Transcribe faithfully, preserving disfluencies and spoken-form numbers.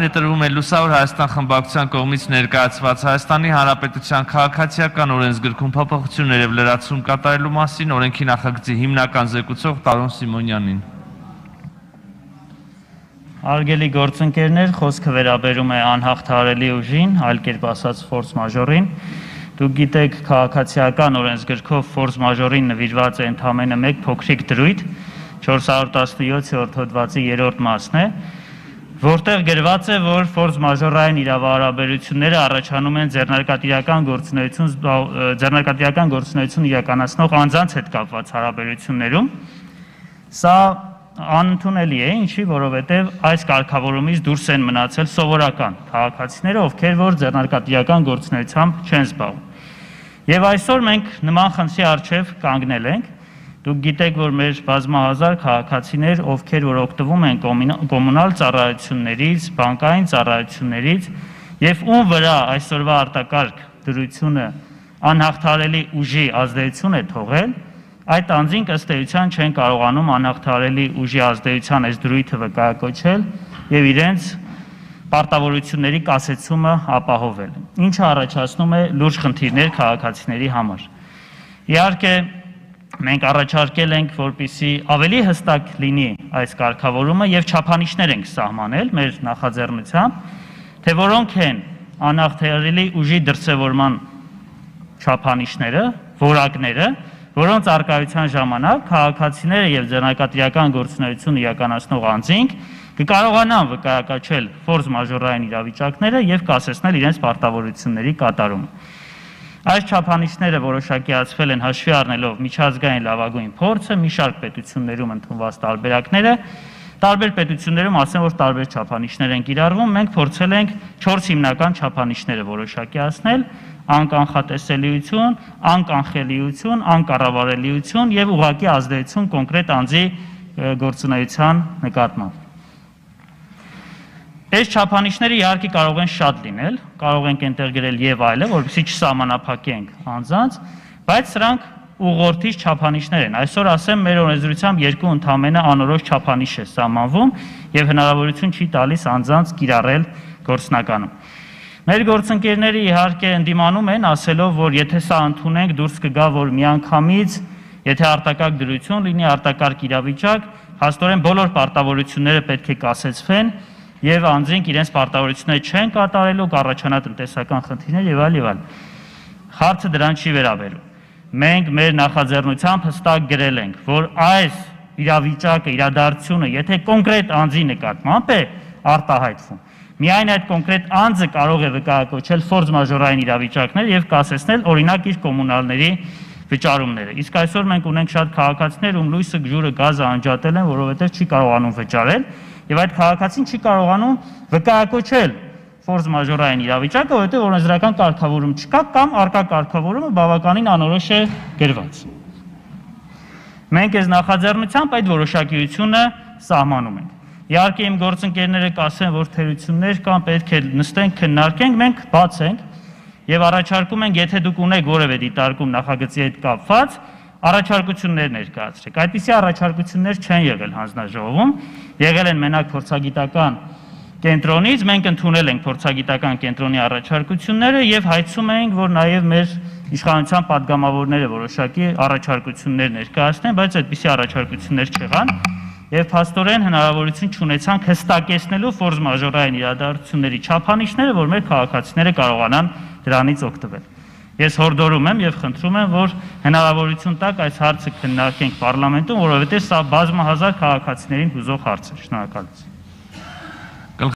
Ներդրվում է Լուսավոր Հայաստան խմբակցության կողմից ներկայացված Հայաստանի Հանրապետության քաղաքացիական օրենսգրքում փոփոխություններ եւ լրացում կատարելու մասին օրենքի նախագծի հիմնական զեկուցող Տարոն Սիմոնյանին։ Արգելի գործընկերներ, խոսքը վերաբերում է անհաղթահարելի ուժին, այլ կերպ ասած ֆորս մաժորին։ Դուք գիտեք, քաղաքացիական օրենսգրքով ֆորս մաժորին նվիրված է ընդամենը մեկ փոքրիկ դրույթ, չորս հարյուր տասնյոթ հոդվածի երրորդ մասն է, որտեղ գրված է, որ ֆորս մաժորային իրավահարաբերությունները առաջանում են ձեռնարկատիրական գործունեություն ձեռնարկատիրական գործունեություն իրականացնող անձանց հետ կապված հարաբերություններում։ Սա անընդունելի է, ինչի, որովհետև այս կարգավորումից դուրս են մնացել սովորական քաղաքացիները, ովքեր որ ձեռնարկատիրական գործունեությամբ չեն զբաղվում։ Եվ այսօր մենք նման խնդրի առջև կանգնել ենք։ Դուք գիտեք, որ մեր բազմահազար քաղաքացիներ, ովքեր որ օգտվում են կոմունալ ծառայություններից, բանկային ծառայություններից եւ ում վրա այսօրվա արտակարգ դրությունը անհաղթահարելի ուժի ազդեցություն է թողել, այդ անձինք ըստ էության չեն կարողանում անհաղթահարելի ուժի ազդեցության այս դրույթը վկայակոչել եւ իրենց պարտավորությունների կասեցումը ապահովել, ինչը առաջացնում է լուրջ խնդիրներ քաղաքացիների համար։ Իհարկե, մենք առաջարկել ենք, որպեսզի ավելի հստակ լինի այս կարգավորումը եւ չափանիշներ ենք սահմանել մեր նախաձեռնությամբ, թե որոնք են անհաղթահարելի ուժի դրսևորման չափանիշները, որակները, որոնց արկայության ժամանակ քաղաքացիները եւ ձեռնարկատիրական գործունեություն իրականացնող անձինք կկարողանան վկայակոչել ֆորս մաժորային իրավիճակները եւ կասեցնել իրենց պարտավորությունների կատարումը։ Այս չափանիշները որոշակիացվել են հաշվի առնելով միջազգային լավագույն փորձը, մի շարք պետություններում ընդունված տարբերակները, տարբեր պետություններում ասեմ, որ տարբեր չափանիշներ են կիրառվում, մենք փորձել ենք չորս հիմնական չափանիշները որոշակիացնել՝ անկանխատեսելիություն, անկանխելիություն, անկառավարելիություն եւ ուղղակի ազդեցություն կոնկրետ անձի գործունեության նկատմամբ։ Այս չափանիշները իհարկե կարող են շատ լինել, կարող ենք այնտեղ գրել եւ այլը, որովհետեւ չսահմանափակենք անձանց, բայց սրանք ուղղորդիչ չափանիշներ են։ Այսօր ասեմ, մեր օրենսդրությամբ երկու ընդամենը անորոշ չափանիշ է սահմանվում եւ հնարավորություն չի տալիս անձանց կիրառել գործնականում։ Մեր գործընկերները իհարկե ընդդիմանում են, ասելով, որ եթե սա ընդունենք, դուրս կգա, որ միանգամից, եթե արտակարգ դրություն լինի, արտակարգ իրավիճակ, հաստորեն բոլոր պարտավորությունները պետք է կասեցվեն եւ անձինք իրենց պարտավորությունները չեն կատարելու, կառաջանա տնտեսական խնդիրներ եւ այլ եւ այլ։ Հարցը դրան չի վերաբերում։ Մենք մեր նախաձեռնությամբ հստակ գրել ենք, որ այս իրավիճակը, իրադարձությունը, եթե կոնկրետ անձի նկատմամբ է արտահայտվում, միայն այդ կոնկրետ անձը կարող է վկայակոչել ֆորս մաժորային իրավիճակներ եւ կասեցնել օրինակ իր կոմունալների վճարումները։ Իսկ այսօր մենք ունենք շատ քաղաքացիներ, ում լույսը, ջուրը, գազը անջատել են, որովհետեւ չի կարողանում վճարել եւ այդ քաղաքացին չի կարողանում վկայակոչել ֆորս մաժորային իրավիճակը, որովհետեւ օրենսդրական կարգավորում չկա կամ արկա կարգավորումը բավականին անորոշ է գրված։ Մենք այս նախաձեռնությամբ այդ որոշակիությունը սահմանում ենք։ Իհարկե իմ գործընկերները կասեն, որ թերություններ կան, պետք է նստենք, քննարկենք, մենք բաց ենք եւ առաջարկում ենք, եթե դուք ունեք որևէ դիտարկում նախագծի հետ կապված, առաջարկություններ ներկայացրեք։ Այդպիսի առաջարկություններ չեն եղել հանձնաժողովում, եղել են մենակ փորձագիտական կենտրոնից, մենք ընդունել ենք փորձագիտական կենտրոնի առաջարկությունները եւ հայցում ենք, որ նաեւ մեր իշխանության падգամավորները որոշակի առաջարկություններ ներկայացնեն, բայց այդպիսի առաջարկություններ չեղան եւ փաստորեն հնարավորություն չունեցանք հստակեցնելու ֆորս մաժորային իրադարձությունների չափանիշները, որ մեր քաղաքացիները կարողանան դրանից օգտվել։ Ես հորդորում եմ եւ խնդրում եմ, որ հնարավորություն տաք այս հարցը քննարկենք պարլամենտում, որովհետեւ սա բազմահազար քաղաքացիներին հուզող հարց է։ Շնորհակալություն։